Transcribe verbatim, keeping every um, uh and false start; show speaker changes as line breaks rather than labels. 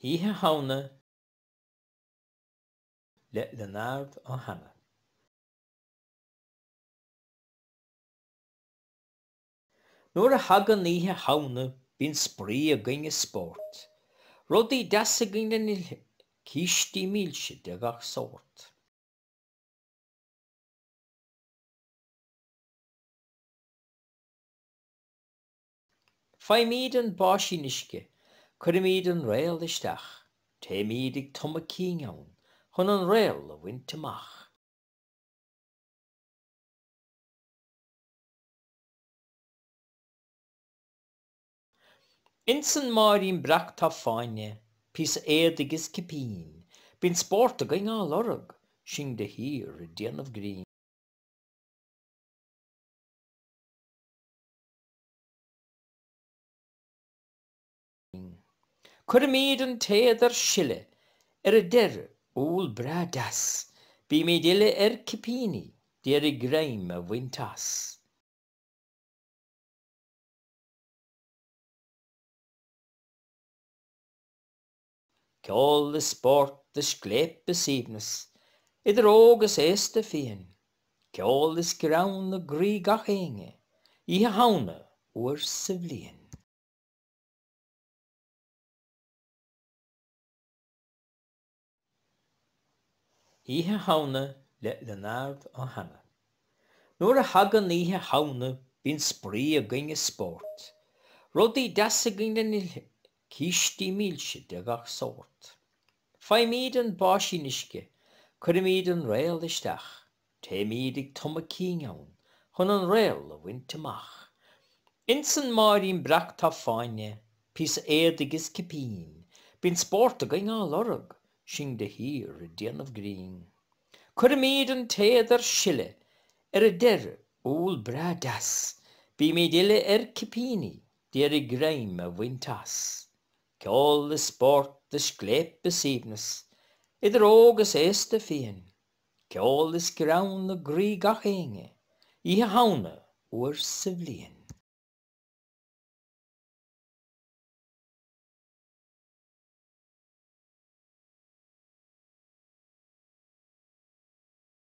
Oíche Shamhna le Lionáird Ó hAnnaidh. Nuair a thagann Oíche Shamhna bíonn spraoi againn is spórt, rudaí deasa againn le n-ithe, cístí milse de gach sórt. Faighimid an báisín uisce, cuirimid an réal isteach, téimid ag tumadh cinn ann chun an réal a bhaint amach. Ins an mbáirín breac tá fáinne, píosa éadaigh is cipín, bíonn spórt againn á lorg, sinn de shíor ag déanamh grinn. Cuirimid an téad ar sileadh, ar an deireadh, úll breá deas, bímid uile ar cipíní d'iarraidh greim a bhaint as. Ceol is spórt is scléip is aoibhneas, idir óg is aosta fiáin, ceol is greann i gcroí gach éinne, Oíche Shamhna uair sa bhliain. Oíche Shamhna le Lionáird Ó hAnnaidh. Nuair a thagann Oíche Shamhna bíonn spraoi againn is spórt, rudaí deasa againn le n-ithe, cístí milse de gach sórt. Faighimid an báisín uisce, cuirimid an réal isteach, téimid ag tumadh cinn ann chun an réal a bhaint amach. Ins an mbáirín breac tá fáinne, píosa éadaigh is cipín, bíonn spórt againn á lorg, sinn de shíor ag déanamh grinn. Cuirimid an téad ar sileadh, ar an deireadh, úll breá deas, bímid uile ar cipíní d'iarraidh greim a bhaint as. Ceol is spórt is scléip is aoibhneas, idir óg is aosta fiáin, ceol is greann i gcroí gach éinne, Oíche Shamhna uair sa bhliain.